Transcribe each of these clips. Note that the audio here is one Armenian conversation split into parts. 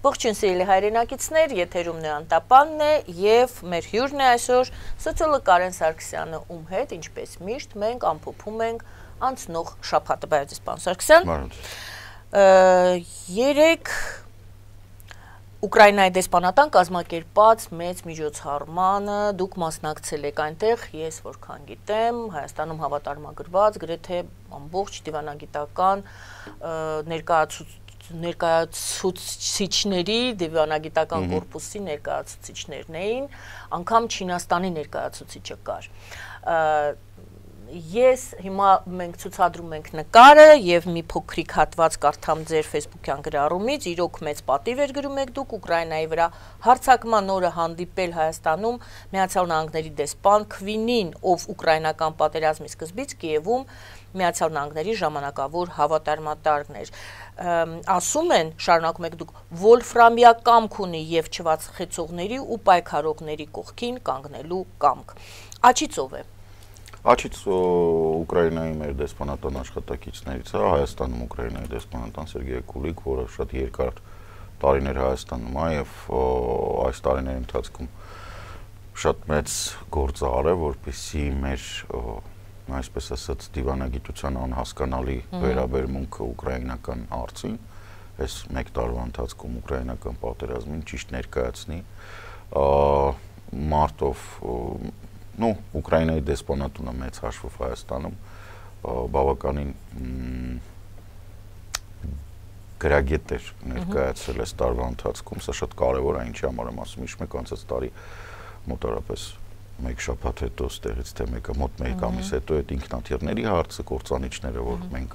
Ողջույն սիրելի հայրենակիցներ, եթերում Նոյան Տապանն է եւ մեր հյուրն է այսօր սոցիոլոգ Կարեն Սարգսյանը, ում հետ ինչպես միշտ մենք ամփոփում ենք անցնող շաբաթը, բայց պարոն Սարգսյան, երեք Ուկրաինայի դեսպանատան կազմակերպած մեծ միջոցառմանը դուք մասնակցել եք այնտեղ, ես որքան գիտեմ, Հայաստանում հավատարմագրված գրեթե ամբողջ դիվանագիտական ներկայացուցիչների դիվանագիտական կորպուսի ներկայացուցիչներն էին, անգամ Չինաստանի ներկայացուցիչը կար։ Ես հիմա մենք ցուցադրում ենք նկարը եւ մի փոքրիկ հատված կարդամ ձեր Facebook-յան գրառումից, իրոք մեծ պատիվ էր գրում եք դուք Ուկրաինայի վրա հարձակման օրը հանդիպել Հայաստանում Միացյալ Նահանգների դեսպան Քվինին, ով ուկրաինական պատերազմի սկզբից Կիևում Միացյալ Նահանգների ժամանակավոր հավատարմատարն էր։ Ասում են, շարունակում եք դուք, վոլֆրամյա կամք ունի եւ չվացխեցողների ու պայքարողների կողքին կանգնելու կամք։ Աչից ով է։ Աչից Ուկրաինայի մեր դեսպանատան աշխատակիցներից է, Հայաստանում Ուկրաինայի դեսպանատան Սերգեյ Կուլիկ, որը շատ երկար տարիներ Հայաստանում է եւ այս տարիների ընթացքում շատ մեծ գործ արել, որպեսզի մեր այսպես ասած դիվանագիտության անհասկանալի վերաբերմունքը ուկրաինական հարցին, այս մեկ տարվա ընթացքում ուկրաինական պատերազմին ճիշտ ներկայացնի, մարտով Ուկրաինայի դեսպանատունը մեծ հաշվով Հայաստանում բավականին գրագետ էր ներկայացրել այս տարվա ընթացքում, սա շատ կարևոր է, ինչի համար եմ ասում, իշ մեկ անցած տարի մոտավորապես մեկ շաբաթ հետո ստեղից թե մեկը մոտ մեկ ամիս հետո այդ ինքնաթիռների հարցը, կործանիչները, որ մենք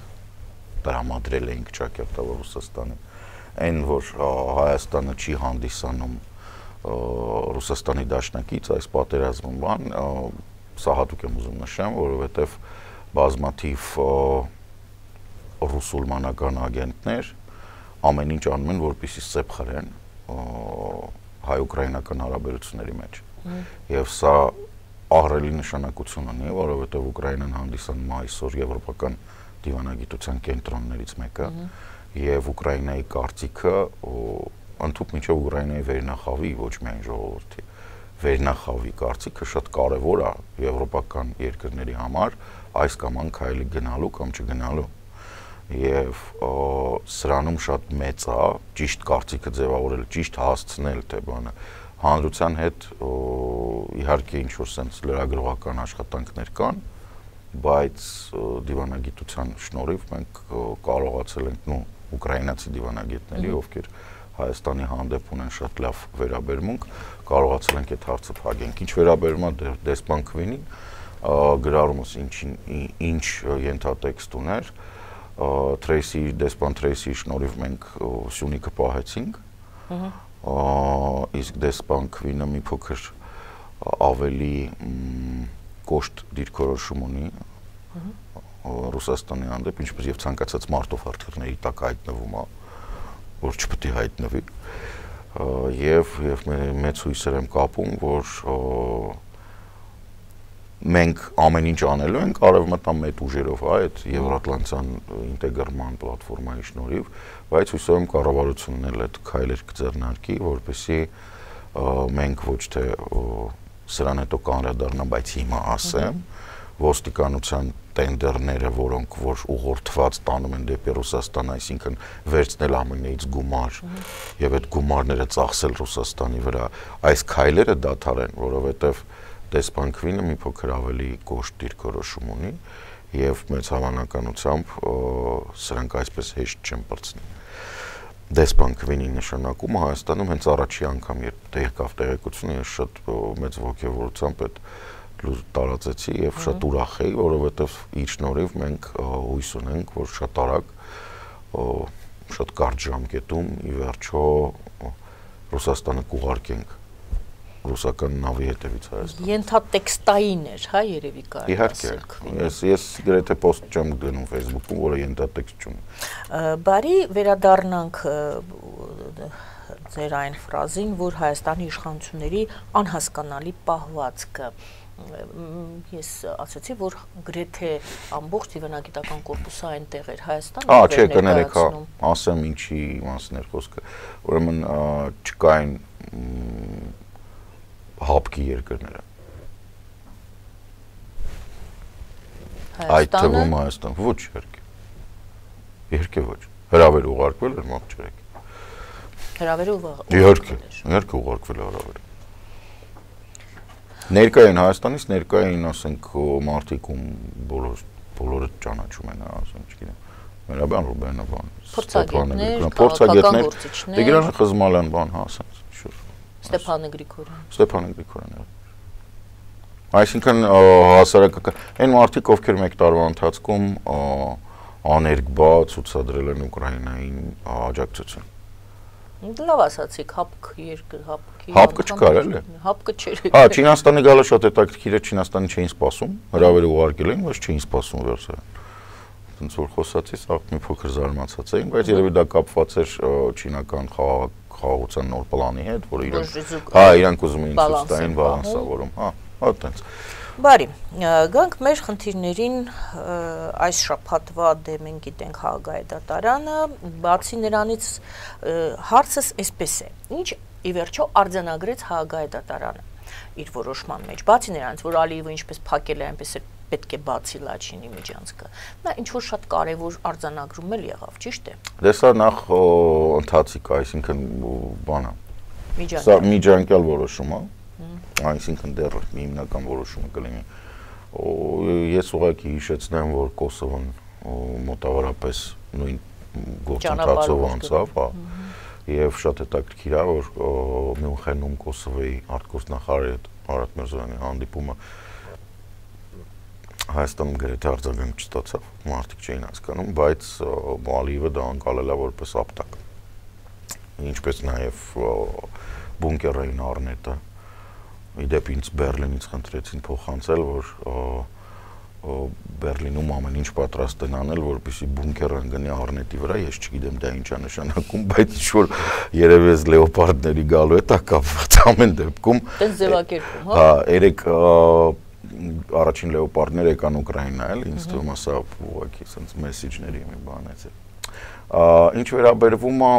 տրամադրել էինք ճակերտավոր Ռուսաստանին, այն որ Հայաստանը չի հանդիսանում Ռուսաստանի դաշնակից այս պատերազմում բան, սա հատուկ եմ ուզում նշեմ, որովհետև բազմաթիվ ռուսուլմանական ագենտներ ամեն ինչ անում են, որպեսզի սեպ խրեն հայ-ուկրաինական հարաբերությունների մեջ։ Եվ սա ահռելի նշանակություն ունի, որովհետև Ուկրաինան հանդիսանում է այսօր եվրոպական դիվանագիտության կենտրոններից մեկը, եւ Ուկրաինայի կարծիքը ընդհանուր մինչև Ուկրաինայի վերնախավի, ոչ միայն ժողովրդի, վերնախավի կարծիքը շատ կարևոր է եվրոպական երկրների համար այս կամ այն քայլի գնալու կամ չգնալու։ Եվ սրանում շատ մեծ է ճիշտ կարծիքը ձևավորել, ճիշտ հասցնել, թե բանը հանրության հետ իհարկե ինչ որ sense լրագրողական աշխատանքներ կան, բայց դիվանագիտության շնորհիվ մենք կարողացել ենք ուկրաինացի դիվանագետների, ովքեր Հայաստանի հանդեպ ունեն շատ լավ վերաբերմունք, կարողացել ենք այդ հարցը փակենք։ Ինչ վերաբերում է դեսպան Քվինին, գրառումս ինչ ենթատեքստ ուներ, դեսպան Թրեյսիի շնորհիվ մենք Սյունիքը պահեցինք, իսկ դեսպան Քվինը մի փոքր ավելի կոշտ դիրքորոշում ունի Ռուսաստանի հանդեպ, ինչպես եւ ցանկացած մարտով հրթիռների տակ հայտնվում է, որ չպետք է հայտնվի, եւ մեծ հույսեր եմ կապում, որ մենք ամեն ինչ անելու ենք արևմտյան մեծ ուժերով, այդ Եվրատլանտյան ինտեգրման պլատֆորմայի շնորհիվ, բայց հույսով եմ կառավարությունն էլ այդ քայլեր կձեռնարկի, որպեսզի մենք ոչ թե սրան հետո կանրադառնամ, բայց հիմա ասեմ, ոստիկանության տենդերները, որոնք որ ուղղորդված տանում են դեպի Ռուսաստան, այսինքն վերցնել ԱՄՆ-ից գումար եւ այդ գումարները ծախսել Ռուսաստանի վրա, այս քայլերը դադարեն, որովհետեւ դեսպան Քվինը մի փոքր ավելի կոշտ դիրքորոշում ունի եւ մեծ հավանականությամբ սրանք այսպես հեշտ չեն բացնի։ Դեսպան Քվինի նշանակումը Հայաստանում հենց առաջի անգամ երբ եկավ տեղեկությունը, ես շատ մեծ ողջավորությամբ այդ տարածեցի եւ շատ ուրախ էի, որովհետեւ իր շնորհիվ մենք հույս ունենք, որ շատ արագ շատ կարճ ժամկետում ի վերջո Ռուսաստանը կուղարկենք ռուսական նավի հետևից Հայաստան։ Ենթատեքստային էր, հա, երևի կարելի ասել։ Իհարկե, ես գրեթե post չեմ դնում Facebook-ում, որը ենթատեքստ չունի։ Բարի վերադառնանք ձեր այն ֆրազին, որ Հայաստանի իշխանությունների անհասկանալի պահվածքը ես ասացի, որ գրեթե ամբողջ դիվանագիտական կորպուսը այնտեղ էր Հայաստանում։ Չէ, կներեք, ասեմ ինչի մասն էր խոսքը։ Ուրեմն չկային հապկի երկրները։ Այդ թվում Հայաստան, ոչ երկե ոչ։ Հրավեր ուղարկվել էր մոտ չերեք։ Հրավերը ուղարկվել ուղարկվել է հրավերը։ Ներկային Հայաստանից ներկային, ասենք, մարդիկ ում բոլորը ճանաչում են, ասենք, չգիտեմ, Մերաբյան Ռուբենը, փորձագետներ, Տիգրան Խզմալյան, ասենց, շուտ։ Ստեփանը Գրիգորյան։ Այսինքն հասարակական, այն մարդիկ, ովքեր մեկ տարվա ընթացքում աներկբա ցուցադրել են Ուկրաինային աջակցություն։ Լավ ասացիք, հապկը չկար, էլի։ Հապկը չէր։ Չինաստանի գալը շատ հետաքրքիր է, Չինաստանի չէին սպասում, հրավերը ուղարկել էին, բայց չէին սպասում վերջերս։ Ոնց որ խոսացի, սա մի փոքր զարմացած էին, բայց երևի դա կապված էր չինական խաղաղության նոր պլանի հետ, որը իրանք ուզում էին ցույց տային բալանսավորում, այդտենց։ Բարի, գանք մեր խնդիրներին այս շաբաթվա մենք գիտենք Հաղագայդատարանը, բացի նրանից հարցս այսպես է, ինչ ի վերջո արձանագրեց Հաղագայդատարանը իր որոշման մեջ, բացի նրանից, որ Ալիևը ինչպես փակել է, այնպես էլ պետք է բացի Լաչինի միջանցքը, նա ինչ-որ շատ կարևոր արձանագրում էլ եղավ, ճիշտ է։ Դե սա նախ ընթացիկ, այսինքն բանը, սա միջանկյալ որոշում է, այսինքն դեռ հիմնական որոշումը կլինի։ Ես ուղղակի հիշեցնեմ, որ Կոսովոն մոտավորապես նույն գործընթացով անցավ, եւ շատ հետաքրքիր է, որ Մյունխենում Կոսովոյի արտգործնախարարի հետ Արարատ Միրզոյանի հանդիպումը Հայաստանում գրեթե արձագանք չստացավ, մարդիկ չէին հասկանում, բայց Ալիևը դա անցալել է որպես ապտակ։ Ինչպես նաեւ բունկերային առնետը Իդեպ ինձ Բերլինից խնդրեցին փոխանցել, որ Բերլինում ամեն ինչ պատրաստ են անել, որպեսզի բունկերը ընկնի առնետի վրա, ես չգիտեմ դա ինչ է նշանակում, բայց ինչ-որ երևի էս լեոպարդների գալու է, դա կապված ամեն դեպքում։ Տենց ձևակերպում, հա։ Երեք առաջին լեոպարդներ եկան Ուկրաինա, էլ ինձ թվում է սա ուղղակի sense մեսեջների մի բան է։ Ինչ վերաբերվում է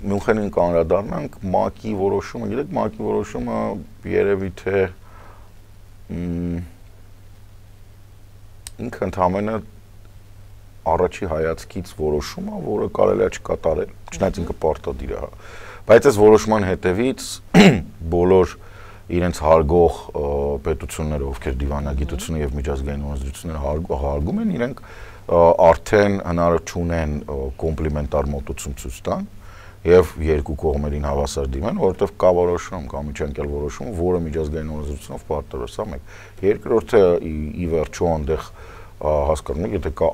Մյունխենին կանրադառնանք, ՄԱԿ-ի որոշումը, գիտեք, ՄԱԿ-ի որոշումը երևի թե ինքը ընդհանրապես առաջի հայացքից որոշում է, որը կարելի է չկատարել, չնայած ինքը պարտադիր է, բայց այս որոշման հետևից բոլոր իրենց հարգող պետությունները, ովքեր դիվանագիտությունը եւ միջազգային օրենսդրությունները հարգում են, իրենք արդեն հնարավոր չունեն կոմպլիմենտար մոտեցում ցույց տան եւ երկու կողմերին հավասար դիմեն, որովհետեւ կա որոշում, կա միջանկյալ որոշում, որը միջազգային օրենսդրությունով պարտավոր է, սա մեկ։ Երկրորդը ի վերջո այնտեղ հասկանում եք, եթե կա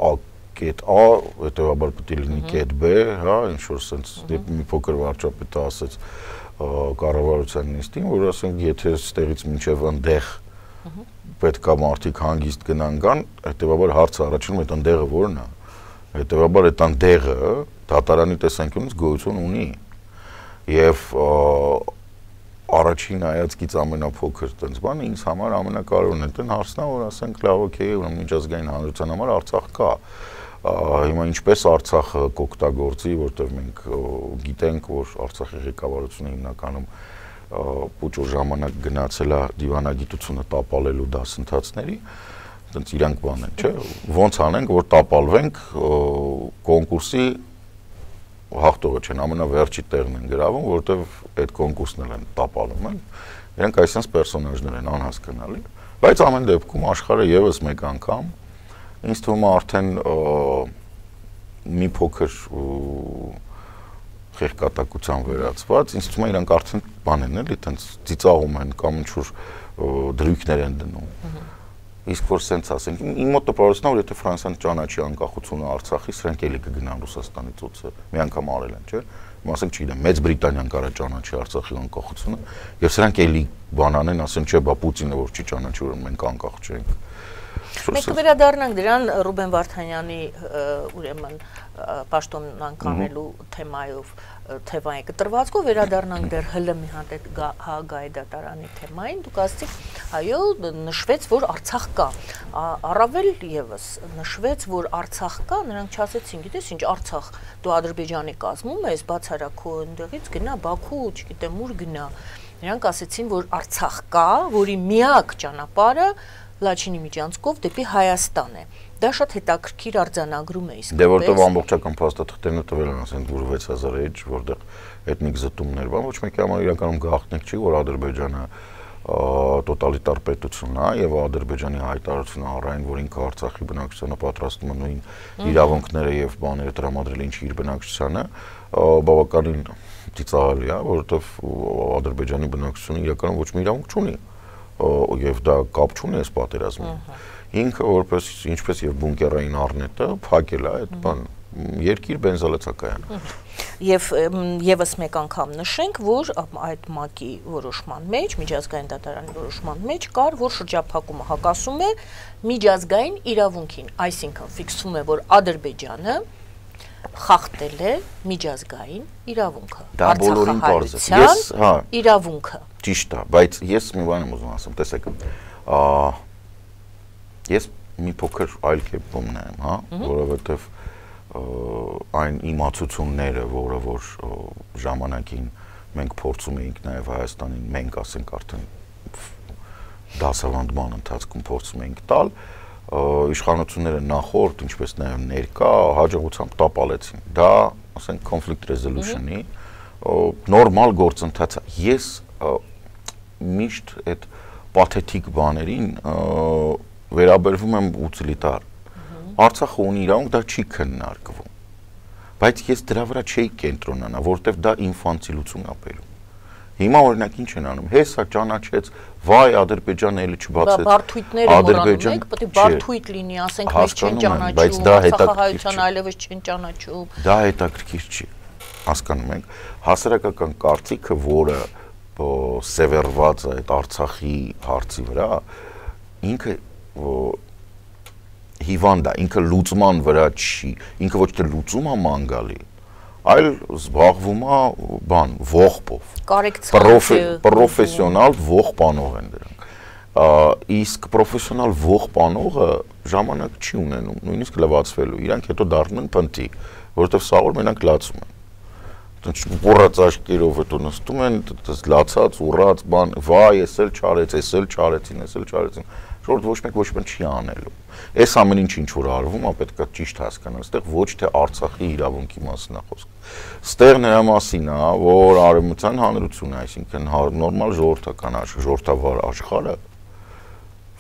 կետ A, հետեւաբար պետք է լինի կետ B, հա, ինչ որ sense մի փոքր վարչապետը ասեց կառավարության նիստին, որ ասենք, եթե ստեղից մինչև այնտեղ պետք է մարդիկ հանգիստ գնան գան, հետեւաբար հարցը առաջանում է այնտեղը որն է։ Հետեւաբար այդ այնտեղը դատարանի տեսանկյունից գոյություն ունի։ Եվ առաջին հայացքից ամենափոքր տենց բանը ինձ համար ամենակարևորն է, այն հարցն է, որ ասենք լավ, օքեյ, ուրեմն միջազգային հանրության համար Արցախ կա։ Հիմա ինչպես Արցախը կօգտագործի, որտեղ մենք գիտենք, որ Արցախի ղեկավարությունը հիմնականում փոքր ժամանակ գնացել է դիվանագիտությունը տապալելու դասընթացների, այդպես իրանք բան են, չէ՞, ոնց անենք, որ տապալվենք կոնկուրսի հաղթողը չեն, ամենավերջի տեղն են գրավում, որովհետև այդ կոնկուրսն են տապալում են, իրանք այսպես պերսոնաժներ են անհասկանալի, բայց ամեն դեպքում աշխարհը եւս մեկ անգամ ինձ թվում է արդեն մի փոքր խեղկատակության վերածված, ինձ թվում է իրանք արդեն բան են էլի, այտենց ծիծաղում են կամ ինչ-որ դրույքներ են դնում։ Իսկ որ սենց ասենք, իմ մոտ տպավորությունն է, որ եթե Ֆրանսիան ճանաչի անկախությունը Արցախից, սրանք էլի կգնան Ռուսաստանից օծը, մի անգամ արել են, չէ՞։ Ասենք, չգիտեմ, Մեծ Բրիտանիան կարա ճանաչի Արցախի անկախությունը, եւ սրանք էլի բան անեն, ասեն, չէ, բա Պուտինը որ չի ճանաչի, որ մենք անկախ չենք։ Մենք կվերադառնանք դրան Ռուբեն Վարդանյանի ուրեմն պաշտոնան կանելու թեմայով թեվային կտրվածքով վերադառնանք դեռ ՀԼՄ-ի Հաագայի դատարանի թեմային, դուք ասացիք, այո, նշվեց, որ Արցախ կա, առավել եւս նշվեց, որ Արցախ կա, նրանք չասեցին, գիտես ինչ, Արցախ, դու Ադրբեջանի կազմում ես, բացառակ քո այնտեղից գնա Բաքու, չգիտեմ ուր գնա, նրանք ասեցին, որ Արցախ կա, որի միակ ճանապարհը Լաչինի միջանցքով դեպի Հայաստան է։ Դա շատ հետաքրքիր արձանագրում է իսկապես։ Դե որտեղ ամբողջական փաստաթղթերն տվել են, ասենք, որ 6000 էջ, որտեղ էթնիկ զտումներ բան, ոչ մեկի համար իրականում գաղտնիք չի, որ Ադրբեջանը տոտալիտար պետություն է եւ Ադրբեջանի հայտարարությունը առայն, որ ինքը Արցախի բնակչությանը պատրաստում է նույն իրավունքները եւ բաները տրամադրել ինչ իր բնակչությանը, բավականին ծիծաղելի է, որովհետեւ Ադրբեջանի բնակչությունը իրականում ոչ մի իրավունք չունի եւ դա կապ չունի այս պատերազմին։ Ինքը որպես ինչպես եւ բունկերային առնետը փակել է այդ բան երկիր բենզալացակայան։ Եվ եւս մեկ անգամ նշենք, որ այդ ՄԱԿ-ի որոշման մեջ, միջազգային դատարանի որոշման մեջ կար, որ շրջափակումը հակասում է միջազգային իրավունքին, այսինքն ֆիքսվում է, որ Ադրբեջանը խախտել է միջազգային իրավունքը։ Դա բոլորին պարզ է։ Ես, հա, իրավունքը։ Ճիշտ է, բայց ես մի բան եմ ուզում ասեմ, տեսեք, ես մի փոքր այլ կերպով նայեմ, հա, որովհետև այն իմացությունները, որը որ ժամանակին մենք փորձում էինք նաև Հայաստանին, մենք ասենք արդեն դասավանդման ընթացքում փորձում էինք տալ, իշխանությունները նախորդ, ինչպես նաև ներկա հաջողությամբ տապալեցին։ Դա, ասենք, conflict resolution-ի նորմալ գործընթաց է։ Ես միշտ այդ պաթետիկ բաներին վերաբերվում եմ ուտիլիտար։ Արցախը ունի իրավունք, դա չի քննարկվում։ Բայց ես դրա վրա չէի կենտրոնանա, որովհետև դա ինֆանտիլություն է բերում։ Հիմա օրինակ ինչ են անում, հեսա ճանաչեց, վայ Ադրբեջանը էլի չբացեց։ Բարթույթները մոռանում եք, պետք է բարթույթ լինի, ասենք մեզ չեն ճանաչում, Արցախահայության այլևս չեն ճանաչում։ Դա հետաքրքիր չի, հասկանում եք, հասարակական կարծիքը, որը սևեռված է այդ Արցախի հարցի վրա, ինքը հիվանդ է, ինքը լուծման վրա չի, ինքը ոչ թե լուծում է ման գալի, այլ զբաղվում է բան, ողբով, պրոֆեսիոնալ ողբանող են դրանք, իսկ պրոֆեսիոնալ ողբանողը ժամանակ չի ունենում, նույնիսկ լվացվելու, իրանք հետո դառնում են փնթի, որովհետև սա որ մենակ լացում են, ուռած աչքերով հետո նստում են, լացած, ուռած բան, վայ, ես էլ չարեցին, շորտ ոչ մեկ ոչ մեկ չի անելու, այս ամեն ինչ որ արվում է, պետք է ճիշտ հասկանալ, այստեղ ոչ թե Արցախի իրավունքի մասին է խոսքը, այստեղ նրա մասին է, որ Արևմտյան հանրությունը, այսինքն նորմալ ժողովրդավար աշխարհը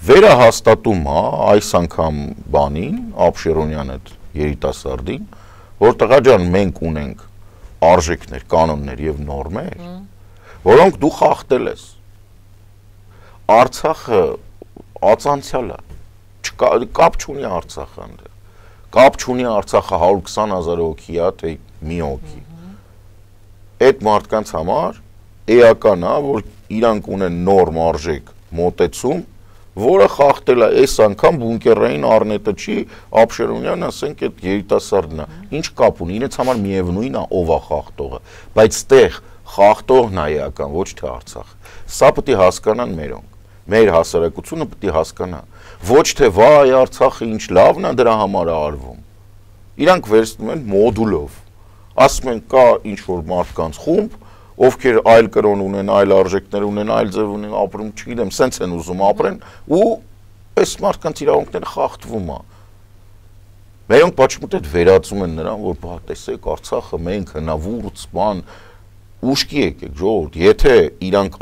վերահաստատում է այս անգամ բանին, Աբշերոնյան այդ երիտասարդին, որ տղա ջան, մենք ունենք արժեքներ, կանոններ եւ նորմեր, որոնք դու խախտել ես։ Արցախը ածանցյալ է, կապ չունի Արցախը այնտեղ, կապ չունի Արցախը 120,000 հոգի է, թե մի հոգի։ Այդ մարդկանց համար էական է, որ իրանք ունեն նորմ արժեք մոտեցում, որը խախտել է այս անգամ բունկերային առնետը չի, Աբշերոնյան, ասենք, այդ երիտասարդն է, ինչ կապ ունի, իրենց համար միևնույն է ով է խախտողը, բայց ստեղ խախտողն է էական, ոչ թե Արցախ։ Սա պետք է հասկանան մերոնք, մեր հասարակությունը պետք է հասկանա, ոչ թե վայ Արցախը ինչ լավն է դրա համար է արվում։ Իրանք վերցնում են մոդուլով, ասում են կա ինչ որ մարդկանց խումբ, ովքեր այլ կրոն ունեն, այլ արժեքներ ունեն, այլ ձև ունեն, ապրում, չգիտեմ, սենց են ուզում ապրեն, ու այս մարդկանց իրավունքները խախտվում է։ Մերոնք պատշմուտ այդ վերածում են նրան, որ բա տեսեք Արցախը մենք հնավուրց բան ուշքի եկեք ժողովուրդ, եթե իրանք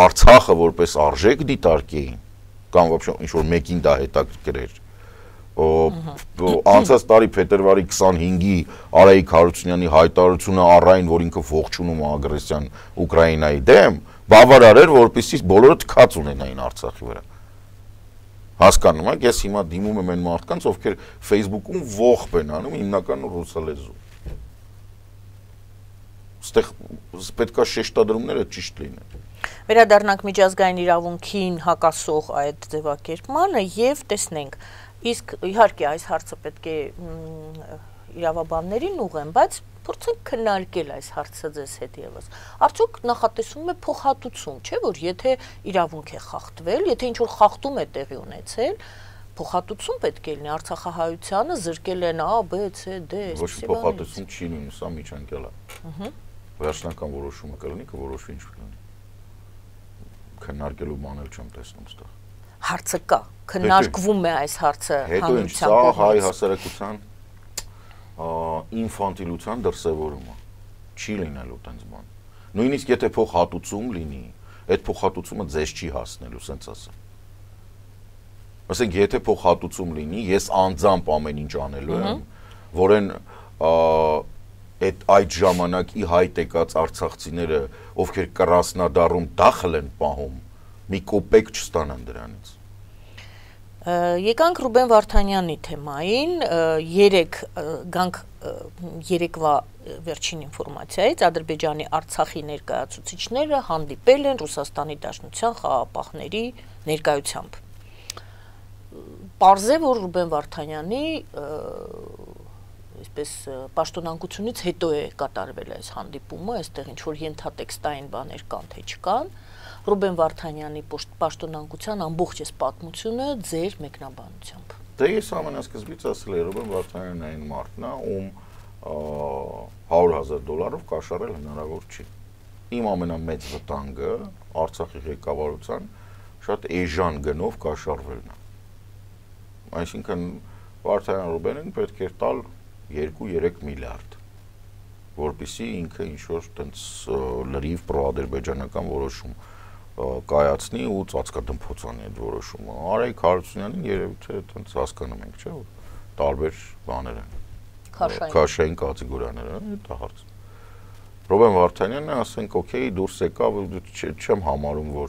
Արցախը որպես արժեք դիտարկեին, կամ вообще ինչ որ մեկին դա հետաքրքրեր, անցած տարի փետրվարի 25-ի Արայիկ Հարությունյանի հայտարարությունը առայն, որ ինքը ողջունում է ագրեսիան Ուկրաինայի դեմ, բավարար էր, որպեսզի բոլորը թքած ունենային Արցախի վրա։ Հասկանում եք, ես հիմա դիմում եմ այն մարդկանց, ովքեր Facebook-ում ողբ են անում հիմնականում ռուսալեզու։ Ստեղ պետք է շեշտադրումները ճիշտ լինեն։ Վերադառնանք միջազգային իրավունքին հակասող այդ ձևակերպմանը եւ տեսնենք։ Իսկ իհարկե այս հարցը պետք է իրավաբաններին ուղղեն, բայց փորձենք քննարկել այս հարցը ձեզ հետ եւս։ Արդյոք նախատեսում է փոխհատուցում, չէ՞ որ եթե իրավունք է խախտվել, եթե ինչ-որ խախտում է տեղի ունեցել, փոխհատուցում պետք է լինի Արցախահայությանը զրկել են A, B, C, D, Ոչ փոխհատուցում չի լինում, սա միջանկյալ է։ Վերջնական որոշումը կլինի, կորոշվի ինչ կլինի։ Քննարկելու բան էլ չեմ տեսնում այստեղ։ Հարցը կա, քննարկվում է այս հարցը հանրության կողմից։ Հետո սա հայ հասարակության ինֆանտիլության դրսևորումը չի լինելու տենց բան։ Նույնիսկ եթե փոխհատուցում լինի, այդ փոխհատուցումը ձեզ չի հասնելու, սենց ասեմ։ Ասենք եթե փոխհատուցում լինի, ես անձամբ ամեն ինչ անելու եմ, որեն այդ ժամանակի հայտ եկած արցախցիները, ովքեր կռասնադառում դախլ են պահում, մի կոպեկ չստանան դրանից։ Եկանք Ռուբեն Վարդանյանի թեմային, գանք երեկվա վերջին ինֆորմացիայից, Ադրբեջանի Արցախի ներկայացուցիչները հանդիպել են Ռուսաստանի Դաշնության խաղաղապահների ներկայությամբ։ Պարզ է, որ Ռուբեն Վարդանյանի այսպես պաշտոնանկությունից հետո է կատարվել այս հանդիպումը, այստեղ ինչ-որ ենթատեքստային բաներ կան, թե չկան, Ռուբեն Վարդանյանի պաշտոնանկության ամբողջ այս պատմությունը ձեր մեկնաբանությամբ։ Դե ես ամենասկզբից ասել եմ, Ռուբեն Վարդանյանն այն մարդն է, ում $100,000 կաշառել հնարավոր չի։ Իմ ամենամեծ վտանգը Արցախի ղեկավարության շատ էժան գնով կաշառվելն է։ Այսինքն Վարդանյան Ռուբենին պետք է տալ 2-3 միլիարդ, որպեսզի ինքը ինչ-որ տենց լրիվ պրոադրբեջանական որոշում կայացնի ու ծածկադմփոցանի այդ որոշումը։ Արայիկ Հարությունյանին երևի թե տենց հասկանում ենք, չէ՞, որ տարբեր բաներ են։ Քաշային կատեգորիաներ են, դա հարց։ Ռուբեն Վարդանյանը ասենք, օքեյ, դուրս եկավ, չեմ համարում, որ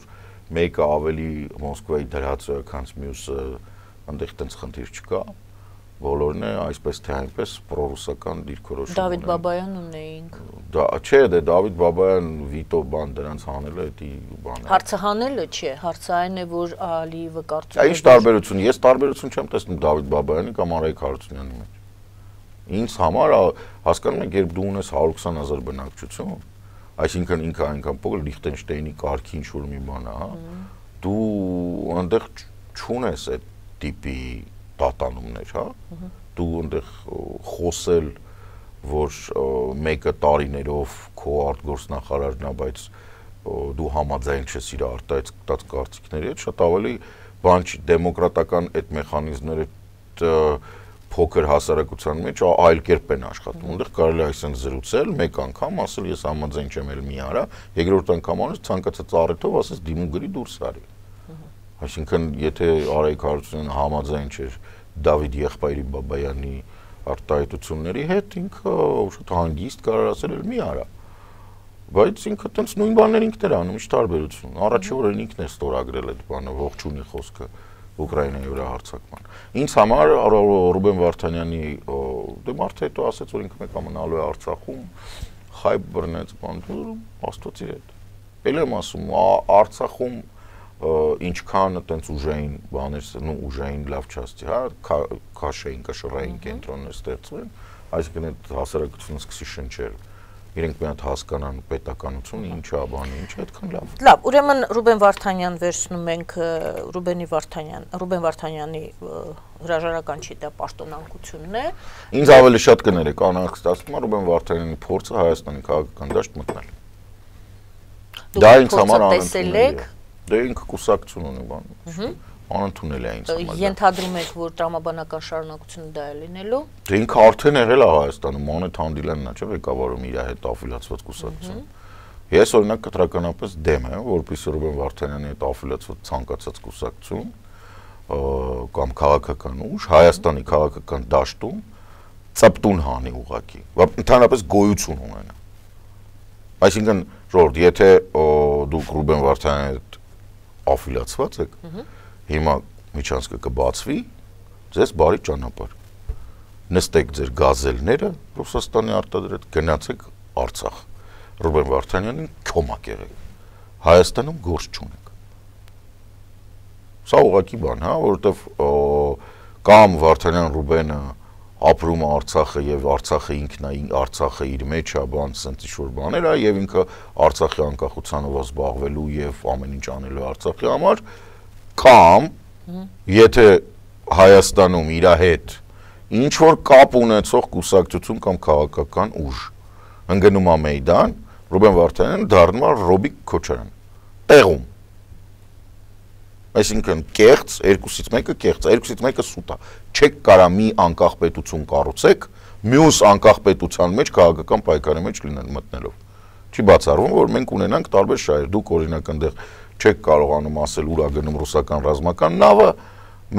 մեկը ավելի Մոսկվայի դրած է, քան մյուսը, այնտեղ տենց խնդիր չկա։ Բոլորն է այսպես թե այնպես պրոռուսական դիրքորոշում։ Դավիթ Բաբայան ունեինք։ Դա չէ, դե Դավիթ Բաբայան վիտո բան դրանց հանելը, դա բան է։ Հարցը հանելը չէ, հարցը այն է, որ Ալիևը կարծում է։ Ինչ տարբերություն, ես տարբերություն չեմ տեսնում Դավիթ Բաբայանի կամ Արայիկ Հարությունյանի մեջ։ Ինձ համար հասկանում եք, երբ դու ունես 120,000 բնակչություն, այսինքն ինքը այնքան փոքր Լիխտենշտեյնի կարգի ինչ-որ մի բան է, հա, դու այնտեղ չունես այդ տիպի պատանումներ, հա, դու այնտեղ խոսել, որ մեկը տարիներով քո արտգործնախարարն է, բայց դու համաձայն չես իր արտահայտած կարծիքների հետ, շատ ավելի բան չի, դեմոկրատական այդ մեխանիզմները փոքր հասարակության մեջ այլ կերպ են աշխատում, այնտեղ կարելի է այսպես զրուցել, մեկ անգամ ասել ես համաձայն չեմ էլ մի արա, երկրորդ անգամ անես ցանկացած առիթով ասես դիմում գրի դուրս արի։ Այսինքն, եթե Արայիկ Հարությունյանը համաձայն չէր Դավիթ եղբայրի Բաբայանի արտահայտությունների հետ, ինքը շատ հանգիստ կարող ասել էլ մի արա։ Բայց ինքը տենց նույն բաներ ինքն էր անում, ինչ տարբերություն։ Առաջի օրերին ինքն է ստորագրել այդ բանը, ողջունի խոսքը Ուկրաինայի վրա հարձակման։ Ինձ համար Ռուբեն Վարդանյանի դե մարդը հետո ասաց, որ ինքը մեկ մնալու է Արցախում, խայբ բռնեց բան, աստծո հետ։ Էլ եմ ասում, Արցախում ինչքան այտենց ուժային բաներ, նո ուժային լավ չասցի, հա, քաշային, կշռային կենտրոններ ստեղծվեն, այսինքն այդ հասարակությունը սկսի շնչել։ Իրենք մի հատ հասկանան պետականությունը ինչա բանը, ինչ այդքան լավ։ Լավ, ուրեմն Ռուբեն Վարդանյան վերցնում ենք Ռուբեն Վարդանյանի հրաժարական չի դա պաշտոնանկությունն է։ Ինձ ավելի շատ կներեք, անհանգստացնում է Ռուբեն Վարդանյանի փորձը Հայաստանի քաղաքական դաշտ մտնել։ Դա ինձ համար անընդունել է։ Դե ինքը կուսակցություն ունի բան։ Անընդունել է ինձ համար։ Ենթադրում եք, որ տրամաբանական շարունակությունը դա է լինելու։ Դե ինքը արդեն եղել է Հայաստանում, Մանեթ Հանդիլյանն է, չէ՞, ղեկավարում իր հետ աֆիլիացված կուսակցություն։ Ես օրինակ կտրականապես դեմ եմ, որպեսզի Ռուբեն Վարդանյանի հետ աֆիլիացված ցանկացած կուսակցություն կամ քաղաքական ուժ Հայաստանի քաղաքական դաշտում ծպտուն հանի ուղակի, ընդհանրապես գոյություն ունենա։ Այսինքն, ժողովուրդ, եթե դուք Ռուբեն Վարդանյանի հետ աֆիլիացված եք, հիմա միջանցքը կբացվի, ձեզ բարի ճանապարհ։ Նստեք ձեր գազելները Ռուսաստանի արտադրած, գնացեք Արցախ։ Ռուբեն Վարդանյանին քոմակ եղեք։ Հայաստանում գործ չունենք։ Սա ուղղակի բան, հա, որովհետև կամ Վարդանյան Ռուբենը ապրում է Արցախը եւ Արցախը ինքնային Արցախը իր մեջ է, բան, ասենց ինչ-որ բաներ է եւ ինքը Արցախի անկախությանով զբաղվելու եւ ամեն ինչ անելու Արցախի համար, կամ եթե Հայաստանում իր հետ ինչ որ կապ ունեցող կուսակցություն կամ քաղաքական ուժ ընկնում է Մեյդան, Ռուբեն Վարդանյանը դառնում է Ռոբիկ Քոչարյան, տեղում։ Այսինքն կեղծ, երկուսից մեկը կեղծ, երկուսից մեկը սուտ է։ Չեք կարա մի անկախ պետություն կառուցեք, մյուս անկախ պետության մեջ քաղաքական պայքարի մեջ մտնելով։ Չի բացառվում, որ մենք ունենանք տարբեր շահեր։ Դուք օրինակ այնտեղ չեք կարողանում ասել ուր է գնում ռուսական ռազմական նավը,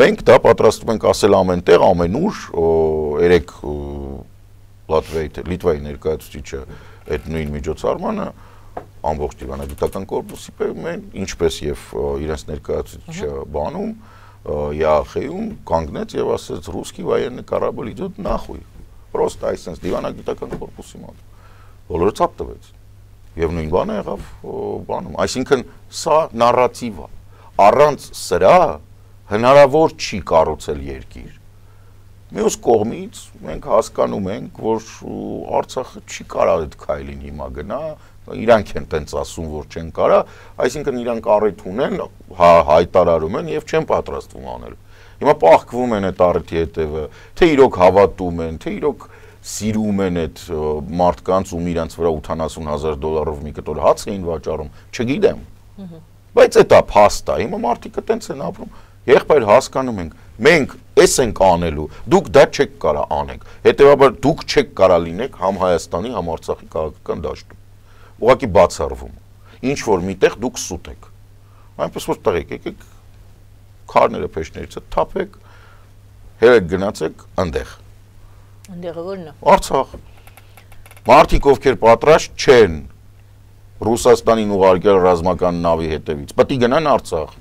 մենք դա պատրաստվում ենք ասել ամենտեղ, ամենուր, երեք Լիտվայի ներկայացուցիչը այդ նույն միջոցառմանը ամբողջ դիվանագիտական կորպուսի ինչպես եւ իրենց ներկայացուցիչը բանում ԵԱԽ-ում կանգնեց եւ ասեց ռուսկի военный корабль идет нахуй просто այսպես դիվանագիտական կորպուսի մոտ բոլորը ցած տվեց եւ նույն բանը եղավ բանում այսինքն սա նարատիվ է առանց սրա հնարավոր չի կառուցել երկիր մյուս կողմից մենք հասկանում ենք որ Արցախը չի կարող այդ քայլին հիմա գնա իրանք են տենց ասում, որ չեն կարա, այսինքն իրանք առիթ ունեն, հայտարարում են եւ չեն պատրաստվում անել։ Հիմա պահկվում են այդ առիթի հետևը, թե իրոք հավատում են, թե իրոք սիրում են այդ մարդկանց ում իրանց վրա $80,000 մի կտոր հաց էին վաճառում, չգիտեմ։ Բայց դա փաստ է, հիմա մարդիկը տենց են ապրում։ Եղբայր հասկանում ենք, մենք էս ենք անելու, դուք դա չեք կարա անեք։ Հետևաբար դուք չեք կարա լինեք համ Հայաստանի, համ Արցախի քաղաքական դաշտում։ Ուղղակի բացառվում։ Ինչ որ միտեղ դուք սուտ եք։ Այնպես որ տղեկ եկեք քարները փեշներից թափեք, հերեք գնացեք այնտեղ։ Այնտեղը ո՞րն է։ Արցախ։ Մարդիկ ովքեր պատրաստ չեն Ռուսաստանին ուղարկել ռազմական նավի հետևից, պետք է գնան Արցախ,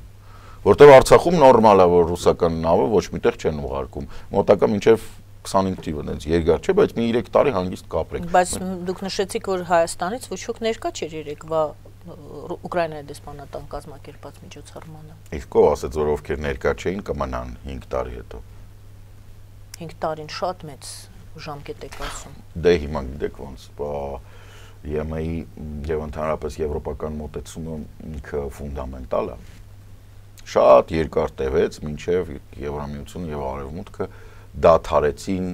որտեղ Արցախում նորմալ է որ ռուսական նավը ոչ միտեղ չեն ուղարկում։ Մոտակա մինչև 25 թիվը դենց երկար չէ, բայց մի 3 տարի հանգիստ կապրեք։ Բայց դուք նշեցիք, որ Հայաստանից ոչ ոք ներկա չէր երեկվա Ուկրաինայի դեսպանատան կազմակերպած միջոցառմանը։ Իսկ ով ասեց, որ ովքեր ներկա չէին կմնան 5 տարի հետո։ 5 տարին շատ մեծ ժամկետ եք ասում։ Դե հիմա գիտեք ոնց, ԵՄ-ի եւ ընդհանրապես եվրոպական մոտեցումը ինքը ֆունդամենտալ է։ Շատ երկար տևեց, մինչև Եվրամիությունը եւ Արևմուտքը դադարեցին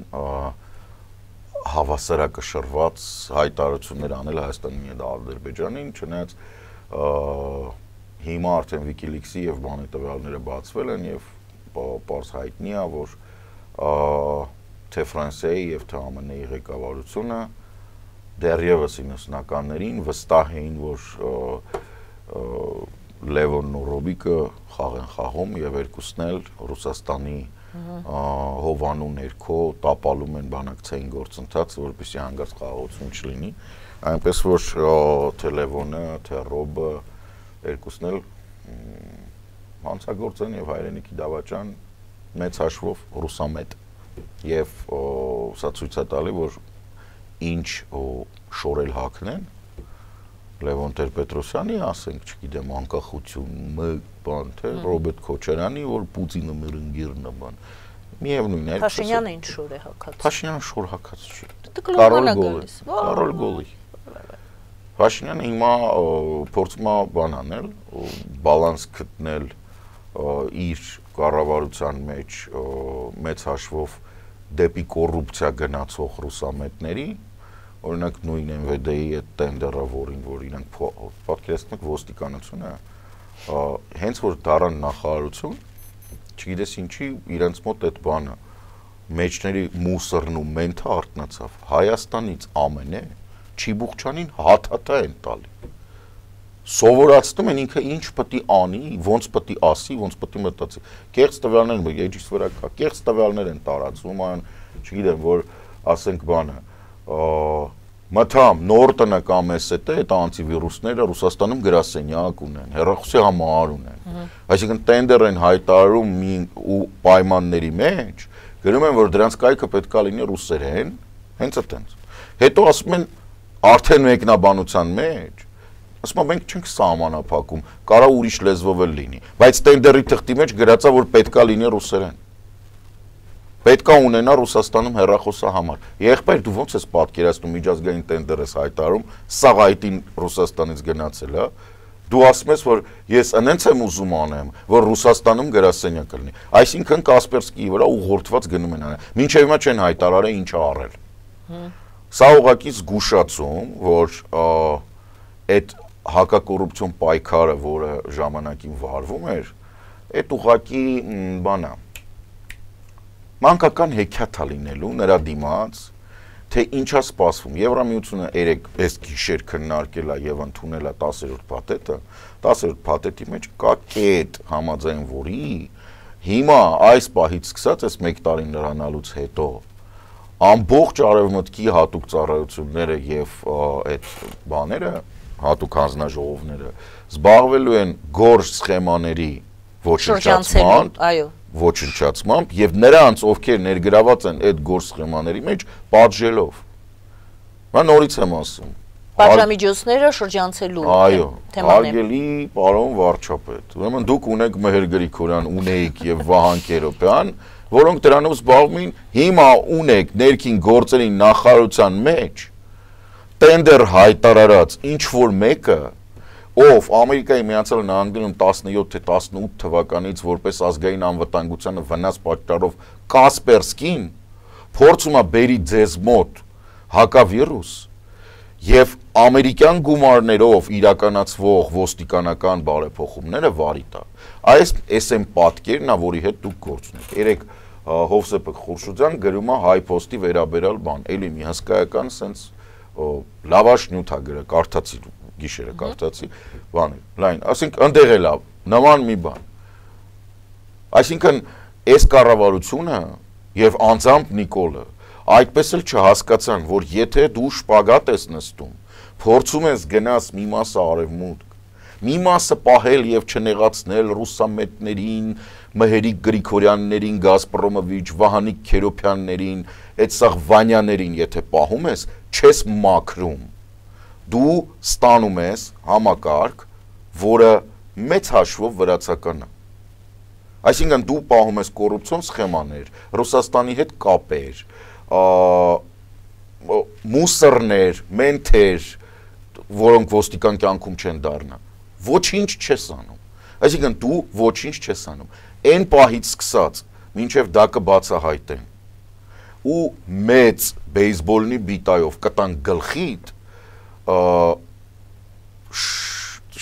հավասարակշռված հայտարարություններ անել Հայաստանի եւ Ադրբեջանին, չնայած հիմա արդեն WikiLeaks-ի եւ բանի տվյալները բացվել են եւ պարզ հայտնի է, որ թե Ֆրանսիայի եւ թե ԱՄՆ-ի ղեկավարությունը դեռևս 90-ականներին վստահ էին, որ Լևոնն ու Ռոբիկը խաղ են խաղում եւ երկուսն էլ Ռուսաստանի հովանու ներքո տապալում են բանակցային գործընթաց, որպեսզի հանգարց խաղաղություն չլինի, այնպես որ թե Լևոնը, թե Ռոբը երկուսն էլ հանցագործ են եւ հայրենիքի դավաճան մեծ հաշվով ռուսամետ եւ սա ցույց է տալի, որ ինչ շորել հակնեն Լևոն Տեր-Պետրոսյանի, ասենք, չգիտեմ, անկախություն, բան, թե Ռոբերտ Քոչարյանի, որ Պուտինը մեր ընկերն է, բան։ Միևնույն է։ Փաշինյանը ինչ շոր է հակած։ Փաշինյանը շոր հակած չի։ Կարոլ Գոլի։ Փաշինյանը հիմա փորձում է բան անել, բալանս գտնել իր կառավարության մեջ մեծ հաշվով դեպի կոռուպցիա գնացող ռուսամետների օրինակ նույն MVD-ի այդ տենդերը, որին որ իրանք պատկերացնում եք ոստիկանությունը, հենց որ դառան նախարարություն, չգիտես ինչի իրենց մոտ այդ բանը մեջների մուսրն ու մենթը արտնացավ, Հայաստանից ամենը Չիբուխչյանին հաթաթա են տալի, սովորացնում են ինքը ինչ պետք է անի, ոնց պետք է ասի, ոնց պետք է մտածի, կեղծ տվյալներ էջից վրա կա, կեղծ տվյալներ են տարածվում, այն չգիտեմ, որ ասենք բանը մթամ նոր տնը կամ էսետը այդ անտիվիրուսները Ռուսաստանում գրասենյակ ունեն, հեռախոսի համարար ունեն։ Այսինքն տենդեր են հայտարարում ու պայմանների մեջ գրում են, որ դրանց կայքը պետք է լինի ռուսերեն, հենց այդտենց։ Հետո ասում են արդեն մեկնաբանության մեջ ասում եմ մենք չենք սահմանափակում, կարա ուրիշ լեզվով էլ լինի, բայց տենդերի թղթի մեջ գրածա որ պետքա լինի ռուսերեն։ Պետք է ունենա Ռուսաստանում հեռախոսահամար։ Եղբայր դու ո՞նց ես պատկերացնում միջազգային տենդեր ես հայտարարում, սաղ այտին Ռուսաստանից գնացել է, դու ասում ես որ ես այնց եմ ուզում անեմ, որ Ռուսաստանում գրասենյակ լինի։ Այսինքն Կասպերսկիի վրա ուղղորդված գնում են անել։ Մինչև հիմա չեն հայտարարել ինչ արել։ Սա ուղղակի զգուշացում, որ այդ հակակոռուպցիոն պայքարը, որը ժամանակին վարվում էր, այդ ուղղակի բան է մանկական հեքիաթ լինելու նրա դիմաց, թե ինչա սպասվում։ Եվրամիությունը երեք այս գիշեր քննարկել է եւ ընդունել է 10-րդ փաթեթը, 10-րդ փաթեթի մեջ կա կետ համաձայն որի հիմա այս պահից սկսած այս 1 տարին լրանալուց հետո ամբողջ արևմուտքի հատուկ ծառայությունները եւ այդ բաները, հատուկ հանձնաժողովները զբաղվելու են գորշ սխեմաների ոչնչացման, այո ոչնչացմամբ եւ նրանց ովքեր ներգրաված են այդ գորշ սխեմաների մեջ պատժելով։ Mä նորից եմ ասում։ Պատժամիջոցները շրջանցելու այո, հարգելի պարոն վարչապետ։ Ուրեմն դուք ունեք Մհեր Գրիգորյան, ունեիք եւ Վահան Կերոպյան, որոնք դրանով զբաղվում են, հիմա ունեք ներքին գործերի նախարարության մեջ տենդեր հայտարարած ինչ որ մեկը ով Ամերիկայի Միացյալ Նահանգներում 17 թե 18 թվականից որպես ազգային անվտանգությանը վնաս պատճառով Կասպերսկին փորձում է բերի ձեզ մոտ հակավիրուս եւ ամերիկյան գումարներով իրականացվող ոստիկանական բարեփոխումները վարի տա։ Այս այն պատկերն է, որի հետ դուք գործ ունեք։ Երեք Հովսեփ Խուրշուդյան գրում է Հայ Post-ի վերաբերյալ բան, էլի մի հսկայական sense լավաշ նյութ է գրել, կարդացի գիշերը կարդացի, բան է, լայն, ասենք ընդեղ էլ նման մի բան։ Այսինքն այս կառավարությունը եւ անձամբ Նիկոլը այդպես էլ չհասկացան, որ եթե դու շպագատ ես նստում, փորձում ես գնաս մի մասը արևմուտք, մի մասը պահել եւ չնեղացնել ռուսամետներին, Մհերիկ Գրիգորյաններին, Գազպրոմովիչ, Վահանիկ Քերոփյաններին, այդ սաղ Վանյաներին, եթե պահում ես, չես մաքրում։ Դու ստանում ես համակարգ, որը մեծ հաշվով վրացական է։ Այսինքն դու պահում ես կոռուպցիոն սխեմաներ, Ռուսաստանի հետ կապեր, մուսորներ, մենթեր, որոնք ոստիկան կյանքում չեն դառնա։ Ոչինչ չես անում։ Այսինքն դու ոչինչ չես անում։ Այն պահից սկսած, մինչև դա կբացահայտեն։ Ու մեծ բեյսբոլնի բիտայով կտան գլխիդ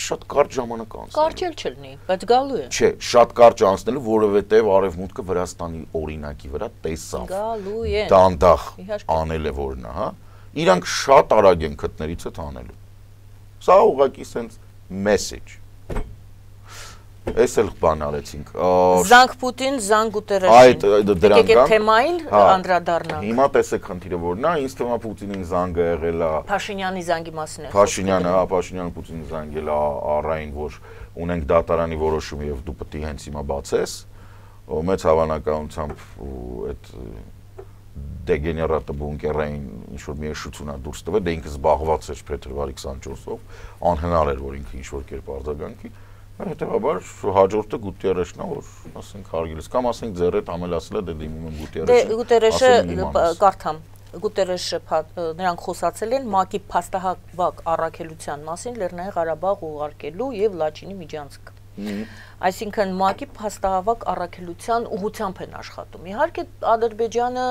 շատ կարճ ժամանակ անցնելու։ Կարճ էլ չլինի, բայց գալու է։ Չէ, շատ կարճ անցնելու, որովհետև Արևմուտքը Վրաստանի օրինակի վրա տեսավ։ Գալու է։ Դանդաղ անել է որն է, հա։ Իրանք շատ արագ են քթներից հետ անելու։ Սա ուղղակի sense message։ Այս էլ բան արեցինք։ Զանգ Պուտին, զանգ Գուտերեշին։ Այդ դրան կան։ Թեմային անդրադառնանք։ Հիմա տեսեք խնդիրը որն է, ինձ թվում է Պուտինին զանգը եղել է Փաշինյանի զանգի մասին է։ Փաշինյանը, հա, Փաշինյանը Պուտինին զանգել է առային, որ ունենք դատարանի որոշում եւ դու պետք է հենց հիմա բացես, մեծ հավանականությամբ այդ դեգեներատը բունկերային ինչ որ մի էշություն է դուրս տվել, դե ինքը զբաղված էր փետրվարի 24-ով, անհնար էր որ ինքը ինչ որ կերպ արձագանքի։ Հետևաբար հաջորդը Գուտերեշն է, որ ասենք հարգելիս կամ ասենք ձեր հետ ամելացել է դե դիմում եմ Գուտերեշին։ Դե Գուտերեշը կարդամ։ Գուտերեշը նրանք խոսացել են ՄԱԿ-ի փաստահավաք առաքելության մասին Լեռնային Ղարաբաղ ուղարկելու եւ Լաչինի միջանցք։ Այսինքն ՄԱԿ-ի փաստահավաք առաքելության ուղղությամբ են աշխատում։ Իհարկե Ադրբեջանը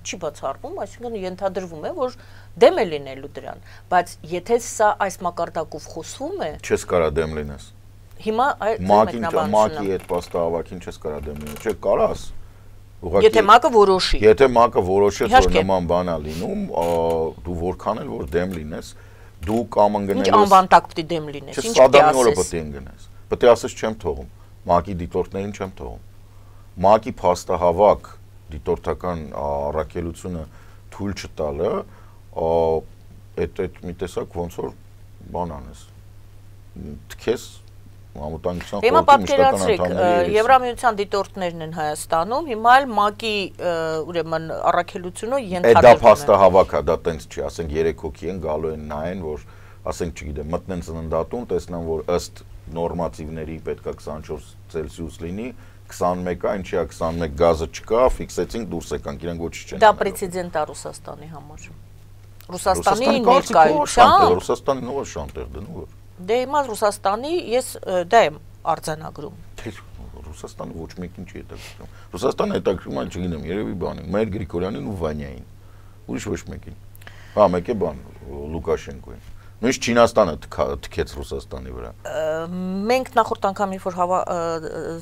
չի բացառվում, այսինքն ենթադրվում է, որ դեմ է լինելու դրան, բայց եթե սա այս մակարդակով խոսվում է, չես կարա դեմ լինես։ Հիմա այդ ՄԱԿ-ի այդ փաստահավաքին չես կարա դեմ լինել, չէ՞ կարաս։ Եթե ՄԱԿ-ը որոշի։ Եթե ՄԱԿ-ը որոշեց, որ նման բան է լինում, դու որքան էլ որ դեմ լինես, դու կամ ընկնես։ Ինչ անվան տակ պետք է դեմ լինես, ինչ Սադամի օրը պետք է ընկնես։ Պետք է ասես չեմ թողում, ՄԱԿ-ի դիտորդներին չեմ թողում։ ՄԱԿ-ի փաստահավաք դիտորդական առաքելությունը թույլ չտալը, այդ մի տեսակ ոնց որ բան անես։ Թքես Ամուտանգության Հիմա պատկերացրեք, Եվրամիության դիտորդներն են Հայաստանում, հիմա էլ ՄԱԿ-ի ուրեմն առաքելությունը ենթադրվում է։ Դա փաստահավաք է, դա տենց չի, ասենք 3 հոգի են գալու են նայեն, որ ասենք չգիտեմ, մտնեն ծննդատուն, տեսնան, որ ըստ նորմատիվների պետք է 24 Ցելսիուս լինի, 21-ա, ինչի է 21 գազը չկա, ֆիքսեցինք, դուրս եկանք, իրանք ոչինչ չեն։ Դա պրեցեդենտ է Ռուսաստանի համար։ Ռուսաստանի ներկայությամբ Ռուսաստանին ով է շանտեր դնում։ Դե հիմա Ռուսաստանի ես դա եմ արձանագրում։ Ռուսաստանը ոչ մեկին չի հետաքրքրում։ Ռուսաստանը հետաքրքրում է, չգիտեմ, երևի բանին, Մայր Գրիգորյանին ու Վանյային։ Ուրիշ ոչ մեկին։ Հա, մեկ է բան Լուկաշենկոին։ Նույնիսկ Չինաստանը թքեց Ռուսաստանի վրա։ Մենք նախորդ անգամ երբ որ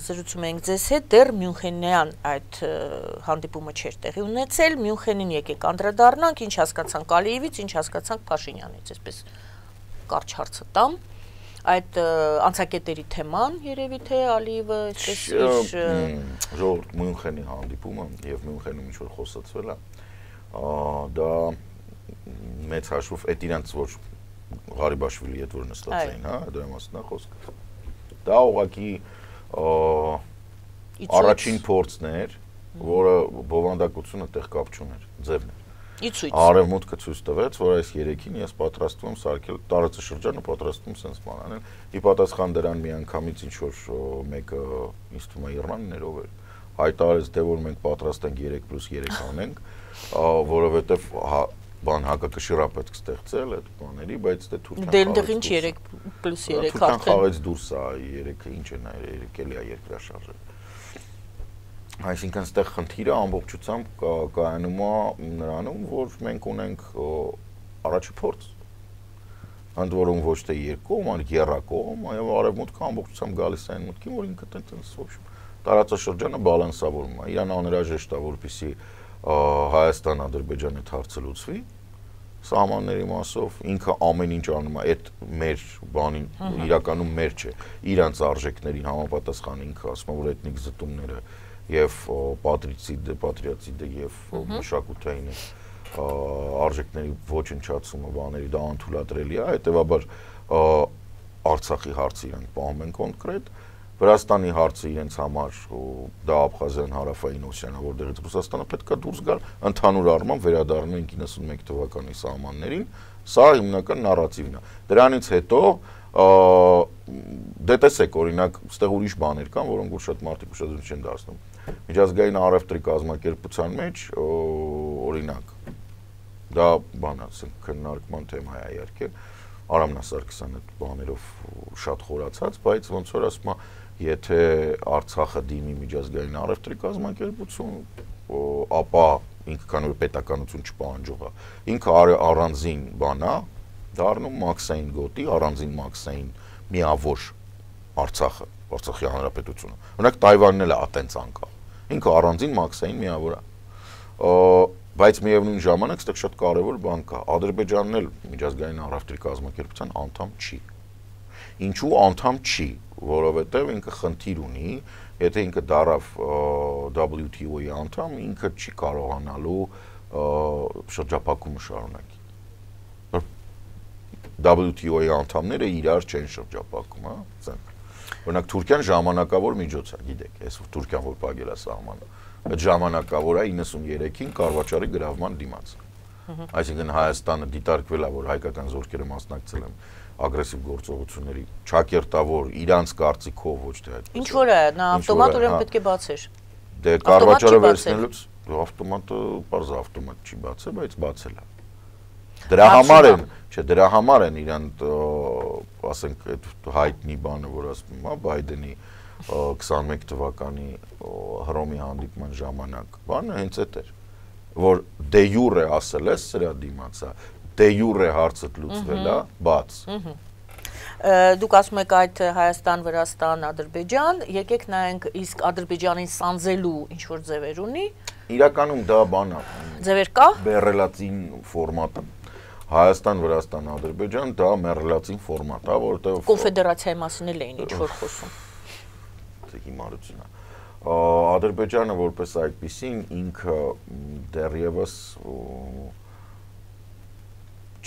զրուցում էինք ձեզ հետ, դեռ Մյունխենյան այդ հանդիպումը չէր տեղի ունեցել, Մյունխենին եկեք անդրադառնանք, ինչ հասկացանք Ալիևից, ինչ հասկացանք Փաշինյանից, այսպես կարճ հարցը տամ, այդ անցակետերի թեման երևի թե Ալիևը այսպես ժողովուրդ Մյունխենի հանդիպումը եւ Մյունխենում ինչ որ խոսացվել է, դա մեծ հաշվով այդ իրանց որ Ղարիբաշվիլի հետ որ նստած էին, հա, դրա մասն է խոսքը։ Դա ուղղակի առաջին փորձն էր, որը բովանդակությունը տեղ կապ չուներ, ձևն էր։ Արևմուտքը ցույց տվեց, որ այս երեքին ես պատրաստվում եմ սարքել տարածաշրջանը, պատրաստվում եմ sense բան անել։ Ի պատասխան դրան միանգամից ինչ որ մեկը ինձ թվում է Իռանն էր ով էր, հայտարարեց, թե որ մենք պատրաստ ենք 3+3 անենք, որովհետև բան հակակշիռ պետք ստեղծել այդ բաների, բայց դե Թուրքիան դե ինչ 3+3 Թուրքիան խաղեց դուրս է 3-ը ինչ է նա 3 էլի է երկրաշարժը։ Այսինքն այստեղ խնդիրը ամբողջությամբ կայանում է նրանում, որ մենք ունենք առաջի փորձ։ Ընդ որում ոչ թե երկկողմ, այլ եռակողմ, այո, արևմուտքը ամբողջությամբ գալիս է այն մտքին, որ ինքը տենց ոչ տարածաշրջանը բալանսավորում է։ Իրան անհրաժեշտ է, որպեսզի Հայաստան-Ադրբեջան այդ հարցը լուծվի սահմանների մասով, ինքը ամեն ինչ անում է, այդ մեր բանին իրականում մեր չէ, իրանց արժեքներին համապատասխան ինքը ասում է, որ էթնիկ զտումները եւ պատրիոտիզմը եւ մշակութային արժեքների ոչնչացումը բաների դա անթույլատրելի է, հետեւաբար Արցախի հարցը իրենք պահում են կոնկրետ, Վրաստանի հարցը իրենց համար դա Աբխազիան հարավային Օսիանա, որտեղից Ռուսաստանը պետք է դուրս գալ, ընդհանուր առմամբ վերադառնում են 91 թվականի սահմաններին, սա հիմնական նարատիվն է։ Դրանից հետո դե տեսեք, օրինակ, այստեղ ուրիշ բաներ կան, որոնք որ շատ մարդիկ ուշադրություն չեն դարձնում։ Միջազգային առևտրի կազմակերպության մեջ, օրինակ, դա բան ասենք քննարկման թեմա է իհարկե, Արամ Նասարքիսյանը այդ բաներով շատ խորացած, բայց ոնց որ ասում է, եթե Արցախը դիմի միջազգային առևտրի կազմակերպություն, ապա ինքը քանի որ պետականություն չպահանջող է, ինքը առանձին բան է, դառնում մաքսային գոտի, առանձին մաքսային միավոր Արցախը, Արցախի հանրապետությունը։ Օրինակ Թայվանն էլ է այտենց անկախ։ Ինքը առանձին մաքսային միավոր է։ Բայց միևնույն ժամանակ այստեղ շատ կարևոր բան կա։ Ադրբեջանն էլ միջազգային առևտրի կազմակերպության անդամ չի։ Ինչու անդամ չի, որովհետև ինքը խնդիր ունի, եթե ինքը դարավ WTO-ի անդամ, ինքը չի կարողանալու շրջափակումը շարունակի։ WTO-ի անդամները իրար չեն շրջափակում, հա, ցենք։ Օրինակ Թուրքիան ժամանակավոր միջոց է, գիտեք, այս Թուրքիան որ փակել է սահմանը, այդ ժամանակավոր է 93-ին Կարվաճարի գրավման դիմաց։ Այսինքն Հայաստանը դիտարկվել է, որ հայկական զորքերը մասնակցել են ագրեսիվ գործողությունների, ճակերտավոր իրանց կարծիքով ոչ թե այդ։ Ինչ որ է, նա ավտոմատ ուրեմն պետք է բացեր։ Դե Կարվաճարը վերցնելուց ավտոմատը, բարձ ավտոմատ չի բացել, բայց բացել է։ Դրա համար են իրան, ասենք, այդ հայտնի բանը, որ ասում եմ, Բայդենի 21 թվականի Հռոմի հանդիպման ժամանակ բանը հենց այդ էր, որ դե յուրե ասել ես սրա դիմացա, դե յուրե հարցը լուծվել է, բաց։ Դուք ասում եք այդ Հայաստան, Վրաստան, Ադրբեջան, եկեք նայենք իսկ Ադրբեջանին սանձելու ինչ որ ձևեր ունի։ Իրականում դա բան է։ Ձևեր կա։ Բեռելացին ֆորմատը։ Հայաստան, Վրաստան, Ադրբեջան դա մեռելացին ֆորմատ է, որտեղ կոնֆեդերացիայի մասին էլ էին ինչ որ խոսում։ Դա հիմարություն է։ Ադրբեջանը որպես այդպեսին ինքը դեռևս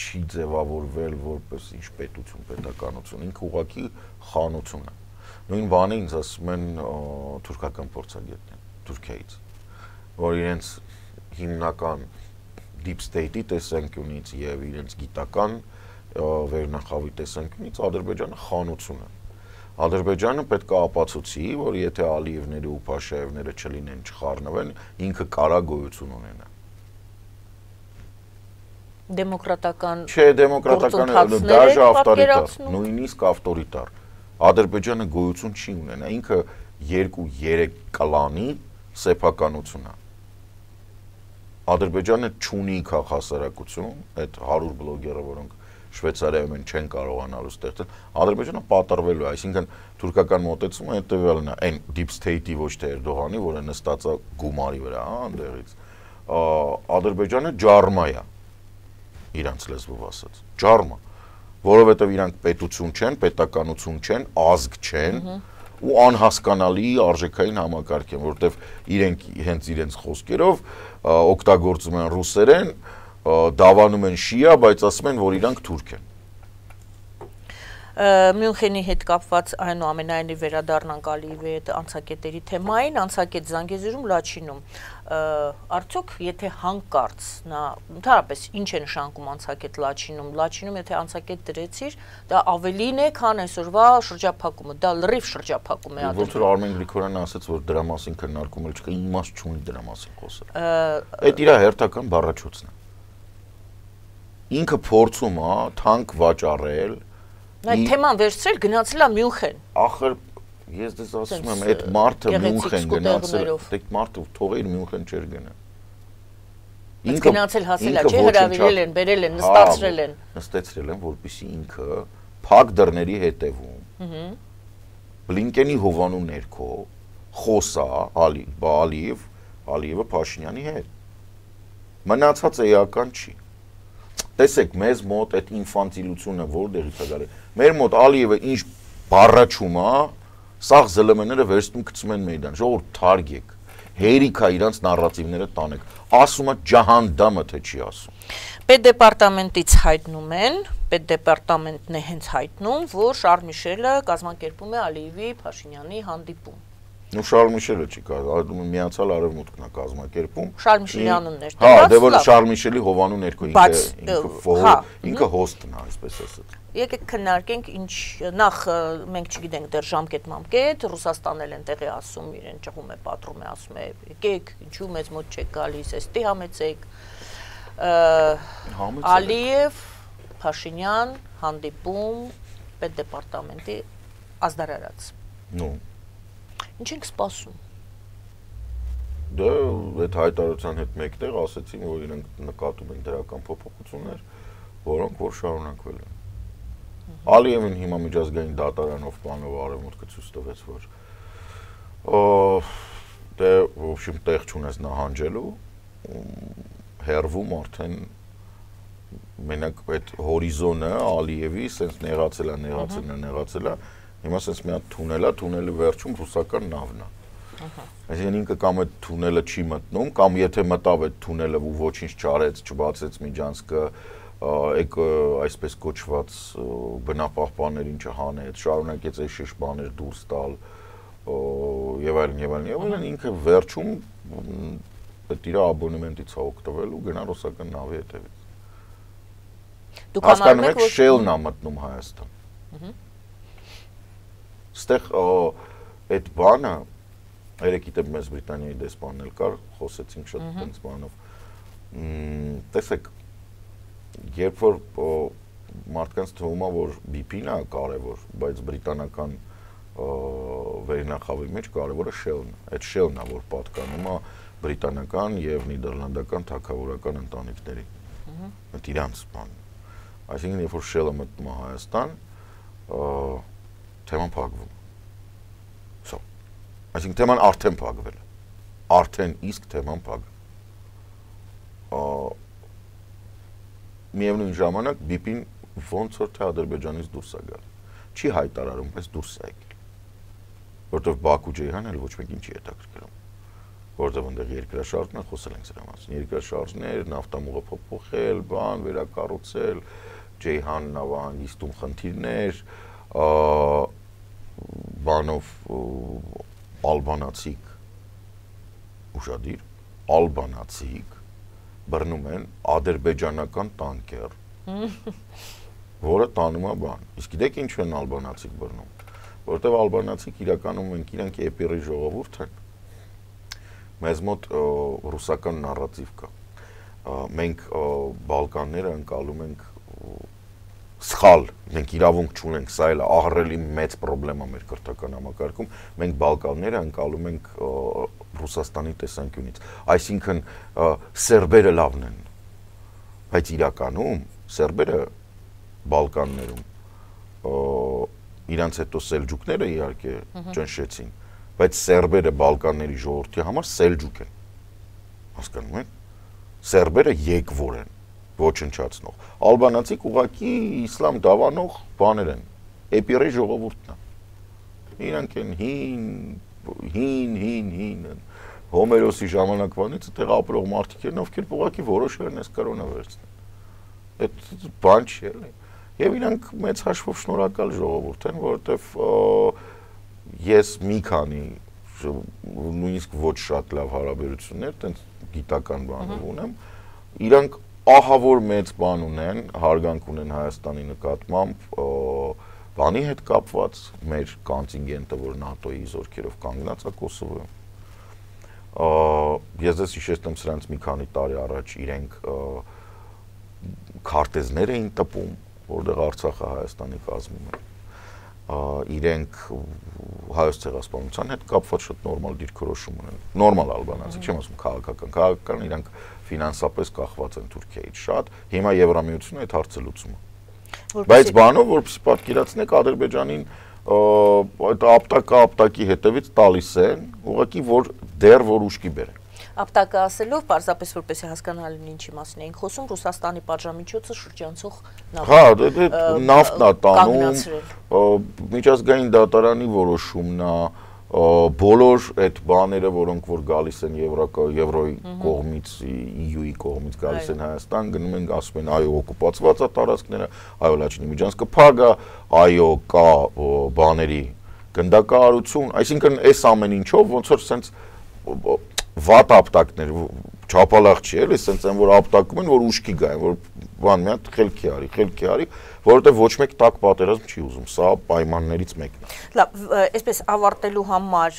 չի ձևավորվել որպես ինչ պետություն, պետականություն, ինքը ուղղակի խանություն է։ Նույն բանը ինձ ասում են թուրքական փորձագետներ Թուրքիայից, որ իրենց հիմնական deep state-ի տեսանկյունից եւ իրենց գիտական վերնախավի տեսանկյունից Ադրբեջանը խանություն է։ Ադրբեջանը պետք է ապացուցի, որ եթե Ալիևները ու Փաշաևները չլինեն, չխառնվեն, ինքը կարա գոյություն ունենա։ Դեմոկրատական Չէ, դեմոկրատական դաժե ավտորիտար, նույնիսկ ավտորիտար։ Ադրբեջանը գոյություն չի ունենա, ինքը 2-3 կլանի սեփականություն է։ Ադրբեջանը չունի քաղաքասարակություն, այդ 100 բլոգերը, որոնք Շվեյցարիայում են չեն կարողանալու ստեղծել, Ադրբեջանը պատրվելու է, այսինքն թուրքական մոտեցումը հետևյալն է, այն deep state-ի ոչ թե Էրդողանի, որը նստած է գումարի վրա, այնտեղից։ Ադրբեջանը ջարմա է, իրանց լեզվով ասած, ջարմա, որովհետև իրանք պետություն չեն, պետականություն չեն, ազգ չեն, ու անհասկանալի արժեքային համակարգ են, որովհետև իրենք հենց իրենց խոսքերով օգտագործում են ռուսերեն, դավանում են շիա, բայց ասում են, որ իրանք թուրք են։ Մյունխենի հետ կապված այնուամենայնիվ վերադառնանք Ալիևի հետ անցակետերի թեմային, անցակետ Զանգեզուրում, Լաչինում, արդյոք եթե հանկարծ նա ընդհանրապես ինչ է նշանակում անցակետ Լաչինում, եթե անցակետ դրեցիր, դա ավելին է, քան այսօրվա շրջափակումը, դա լրիվ շրջափակում է Ոնց որ Արմեն Գրիգորյանը ասաց, որ դրա մասին քննարկում չկա, իմաստ չունի դրա մասին խոսել։ Այդ իր հերթական բառաչոցն է։ Ինքը փորձում է թանկ վաճառել։ Այդ թեման վերցրել գնացել է Մյունխեն։ Ախր ես դες ասում եմ, այդ մարդը Մյունխեն գնացել, այդ մարդը թողեր Մյունխեն չէր գնա։ Ինքը գնացել հասել է, չէ՞, հրավիրել են, բերել են, նստացրել են։ Նստեցրել են, որպեսզի ինքը փակ դռների հետևում Բլինկենի հովանու ներքո խոսա Ալիևը Փաշինյանի հետ։ Մնացած էական չի։ Տեսեք, մեզ մոտ այդ ինֆանտիլությունը որտեղից է գալի։ Մեր մոտ Ալիևը ինչ բառաչում է, սաղ ԶԼՄ-ները վերցնում գցում են մեյդան, ժողովուրդ թարգեք, հերիք է իրանց նարատիվները տանեք, ասում է ջահանդամը, թե չի ասում։ Պետդեպարտամենտից հայտնում են, պետդեպարտամենտն է հենց հայտնում, որ Շարլ Միշելը կազմակերպում է Ալիևի Փաշինյանի հանդիպում։ Ու Շարլ Միշելը չի կազմակերպում, միացյալ արևմուտքն է կազմակերպում։ Շարլ Միշելի անուններ դրած։ Հա, դե որ Շարլ Միշելի հովանու ներքո ինքը հոստն է, այսպես ասած։ Եկեք քննարկենք ինչ նախ մենք չգիտենք դեռ ժամկետ, Ռուսաստանն են տեղի ասում, իրեն ճղում է, պատռում է, ասում է, եկեք, ինչու մեզ մոտ չեք գալիս, էստի համեցեք։ Ալիև, Փաշինյան, հանդիպում, պետդեպարտամենտի ազդարարած։ Նու Ինչ ենք սպասում։ Դե այդ հայտարարության հետ մեկտեղ ասեցին, որ իրենք նկատում են դրական փոփոխություններ, որոնք որ շարունակվել են։ Ալիևին հիմա միջազգային դատարանով բանով արևմուտքը ցույց տվեց, որ դե в общем տեղ չունես նահանջելու, հերվում արդեն մենակ այդ հորիզոնը Ալիևի սենց նեղացել է, հիմա սենց մի հատ թունելի վերջում ռուսական նավն է։ Այսինքն ինքը կամ այդ թունելը չի մտնում, կամ եթե մտավ այդ թունելը ու ոչինչ չարեց, չբացեց միջանցքը, այսպես կոչված բնապահպաններին չհանեց, շարունակեց այս շիշ բաներ դուրս տալ եւ այլն, ինքը վերջում այդ իր աբոնեմենտից է օգտվել ու գնա ռուսական նավի հետևից։ Հասկանում եք, Shell-ն է մտնում Հայաստան։ Ստեղ այդ բանը երեքի դեպ մեզ Բրիտանիայի դեսպանն էլ կար, խոսեցինք շատ տենց բանով։ Տեսեք, երբ որ մարդկանց թվում է, որ BP-ն է կարևոր, բայց բրիտանական վերնախավի մեջ կարևորը Shell-ն է։ Այդ Shell-ն է, որ պատկանում է բրիտանական եւ նիդերլանդական թագավորական ընտանիքներին։ Այդ իրանց բանն։ Այսինքն, երբ որ Shell-ը մտնում է Հայաստան, թեման փակվում։ Այսինքն թեման արդեն փակվել է։ Արդեն իսկ թեման փակվել։ Միևնույն ժամանակ BP-ն ոնց որ թե Ադրբեջանից դուրս է գալ։ Չի հայտարարում, բայց դուրս է եկել։ Որտեվ Բաքու Ջեյհանը էլ ոչ մեկին չի հետաքրքրում։ Որտեվ այնտեղ երկրաշարժն է, խոսել ենք սրա մասին։ Երկրաշարժներ, նավթամուղը փոփոխել, բան վերակառուցել, Ջեյհան նավահանգիստում խնդիրներ, բանով ալբանացիք ուշադիր, ալբանացիք բռնում են ադրբեջանական տանկեր որը տանում է բան։ Իսկ գիտեք ինչ են ալբանացիք բռնում, որովհետև ալբանացիք իրականում իրենք էպիրի ժողովուրդ են։ Մեզ մոտ ռուսական նարատիվ կա։ Մենք Բալկանները ընկալում ենք սխալ, մենք իրավունք չունենք, սա էլ ահռելի մեծ խնդրեմ է մեր քրթական համակարգում, մենք Բալկանները ընկալում ենք Ռուսաստանի տեսանկյունից, այսինքն սերբերը լավն են, բայց իրականում սերբերը Բալկաններում իրանց հետո սելջուկները իհարկե ճնշեցին, բայց սերբերը Բալկանների ժողովրդի համար սելջուկ են, հասկանում եք, սերբերը եկվոր են, ոչնչացնող, ալբանացիք ուղղակի իսլամ դավանող բաներ են, էպիրի ժողովուրդն է, իրանք են հին, Հոմերոսի ժամանակվանից այդտեղ ապրող մարդիկ են, ովքեր ուղղակի որոշել են այս կրոնը վերցնել, այդ բան չի էլի, եւ իրանք մեծ հաշվով շնորհակալ ժողովուրդ են, որովհետեւ ես մի քանի նույնիսկ ոչ շատ լավ հարաբերություններ, տենց գիտական բաներ ունեմ, իրանք ահավոր մեծ բան ունեն, հարգանք ունեն Հայաստանի նկատմամբ, բանի հետ կապված մեր կոնտինգենտը, որ ՆԱՏՕ-ի զորքերով կանգնած է Կոսովոյում։ Ես դες հիշեցնում սրանց մի քանի տարի առաջ իրենք քարտեզներ էին տպում, որտեղ Արցախը Հայաստանի կազմում է։ Իրենք հայոց ցեղասպանության հետ կապված շատ նորմալ դիրքորոշում ունեն, նորմալ ալբանացի, չեմ ասում քաղաքական, իրանք ֆինանսապես կախված են Թուրքիայից շատ, հիմա Եվրամիությունը այդ հարցը լուծում է։ Բայց բանով, որպեսզի պատկերացնեք, Ադրբեջանին այդ ապտակի հետևից տալիս են, ուղղակի որ դեռ որ ուշքի բերեն։ Ապտակը ասելով, պարզապես որպեսզի հասկանալի լինի ինչի մասին էինք խոսում, Ռուսաստանի պատժամիջոցը շրջանցող նավթն է տանում, միջազգային դատարանի որոշումն է, բոլոր այդ բաները, որոնք որ գալիս են Եվրոյի կողմից, EU-ի կողմից գալիս են Հայաստան, գնում են ասում են այո օկուպացված է տարածքները, այո Լաչինի միջանցքը փակ է, այո կա բաների գնդակահարություն, այսինքն այս ամեն ինչով ոնց որ սենց վատ ապտակներ, չափալախ չի էլի, սենց են որ ապտակում են, որ ուշքի գային, որ բան մի հատ խելքի արի, որովհետև ոչ մեկ տակ պատերազմ չի ուզում, սա պայմաններից մեկն է։ Լավ, այսպես ավարտելու համար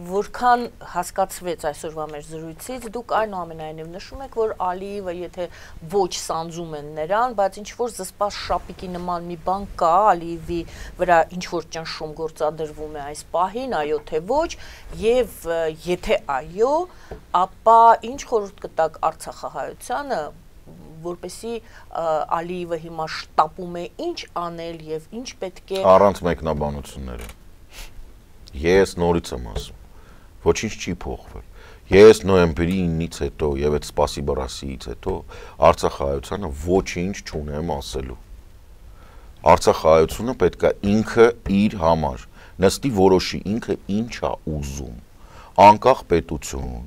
որքան հասկացվեց այսօրվա մեր զրույցից, դուք այնուամենայնիվ նշում եք, որ Ալիևը եթե ոչ սանձում են նրան, բայց ինչ որ զսպած շապիկի նման մի բան կա, Ալիևի վրա ինչ որ ճնշում գործադրվում է այս պահին, այո թե ոչ, եւ եթե այո, ապա ինչ խորհուրդ կտաք Արցախահայությանը, որպեսզի Ալիևը հիմա շտապում է ինչ անել եւ ինչ պետք է առանց մեկնաբանությունների։ Ես նորից եմ ասում, ոչինչ չի փոխվել։ Ես նոյեմբերի 9-ից հետո եւ այդ սպասի բռասիից հետո Արցախահայությանը ոչինչ չունեմ ասելու։ Արցախահայությունը պետք է ինքը իր համար նստի որոշի ինքը ինչ է ուզում։ Անկախ պետություն,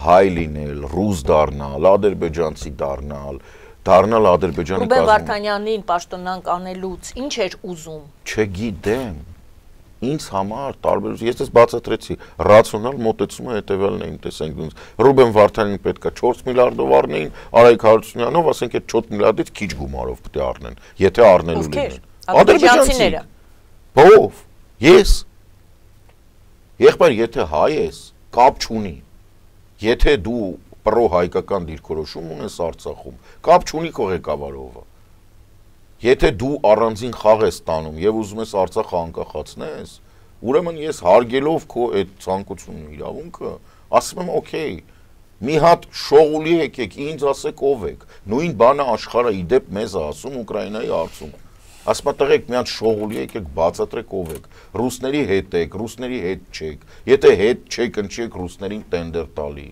հայ լինել, ռուս դառնալ, ադրբեջանցի դառնալ Ադրբեջանի կազմում։ Ռուբեն Վարդանյանին պաշտոնանկ անելուց ինչ էր ուզում։ Չգիտեմ։ Ինձ համար տարբերություն, ես դες բացատրեցի, ռացիոնալ մոտեցումը հետևյալն է իմ տեսանկյունից։ Ռուբեն Վարդանյանին պետք է 4 միլիարդով առնեին, Արայիկ Հարությունյանով, ասենք այդ 4 միլիարդից քիչ գումարով պետք է առնեն, եթե առնելու լինեն։ Ադրբեջանցիները։ Ո՞վ։ Ես։ Եղբայր, եթե հայ ես, կապ չունի։ Եթե դու պրո-հայկական դիրքորոշում ունես Արցախում, կապ չունի քո ղեկավարովը։ Եթե դու առանձին խաղ ես տանում եւ ուզում ես Արցախը անկախացնես, ուրեմն ես հարգելով քո այդ ցանկությունն ու իրավունքը, ասում եմ օքեյ, մի հատ շողուլի եկեք, ինձ ասեք ով եք։ Նույն բանը աշխարհը իդեպ մեզ է ասում Ուկրաինայի հարցում։ Ասում է տղեկ մի հատ շողուլի եկեք բացատրեք ով եք։ Ռուսների հետ եք, ռուսների հետ չեք։ Եթե հետ չեք, ընչեք ռուսներին տենդեր տալի։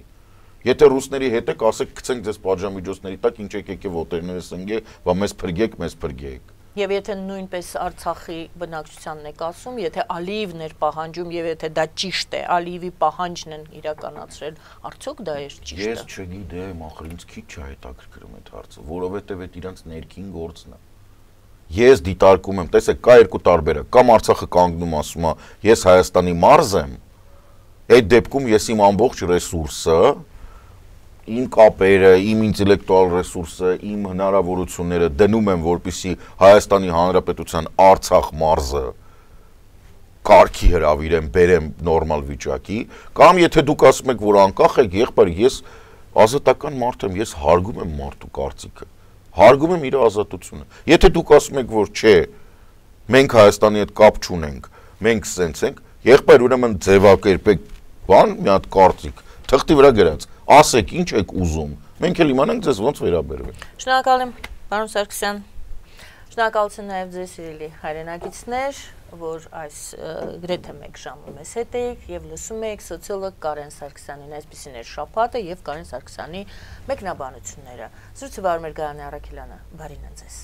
Եթե ռուսների հետ եք, ասեք գցենք ձեզ պատժամիջոցների տակ, ինչ եկեք ոտերներս ընկե, բա մեզ փրկեք։ Եվ եթե նույնպես Արցախի բնակչությանն եք ասում, եթե Ալիևն էր պահանջում եւ եթե դա ճիշտ է, Ալիևի պահանջն են իրականացրել, արդյոք դա է ճիշտը։ Ես չգիտեմ, ախր ինձ քիչ է հետաքրքրում այդ հարցը, որովհետեւ այդ իրանց ներքին գործն է։ Ես դիտարկում եմ, տեսեք, կա երկու տարբերակ, կամ Արցախը կանգնում ասում է, ես Հայաստանի մարզ եմ, այդ դեպքում ես իմ ամբողջ ռեսուրսը իմ կապերը, իմ ինտելեկտուալ ռեսուրսը, իմ հնարավորությունները դնում եմ, որպեսզի Հայաստանի Հանրապետության Արցախ մարզը կարգի հրավիրեմ, բերեմ նորմալ վիճակի, կամ եթե դուք ասում եք, որ անկախ եք, եղբայր, ես ազատական մարդ եմ, ես հարգում եմ մարդու կարծիքը, հարգում եմ իր ազատությունը։ Եթե դուք ասում եք, որ չէ, մենք Հայաստանի հետ կապ չունենք, մենք սենց ենք, եղբայր, ուրեմն ձևակերպեք բան, մի հատ կարծիք, թղթի վրա գրած, ասեք ինչ եք ուզում, մենք էլ իմանանք ձեզ ոնց վերաբերվենք։ Շնորհակալ եմ, պարոն Սարգսյան։ Շնորհակալություն նաև ձեզ սիրելի հայրենակիցներ, որ այս գրեթե 1 ժամը մեզ հետ էիք եւ լսում եք սոցիոլոգ Կարեն Սարգսյանին, այսպեսին էր շաբաթը եւ Կարեն Սարգսյանի մեկնաբանությունները։ Զրույցը վարում էր Գայանե Առաքելյանը, բարին ձեզ։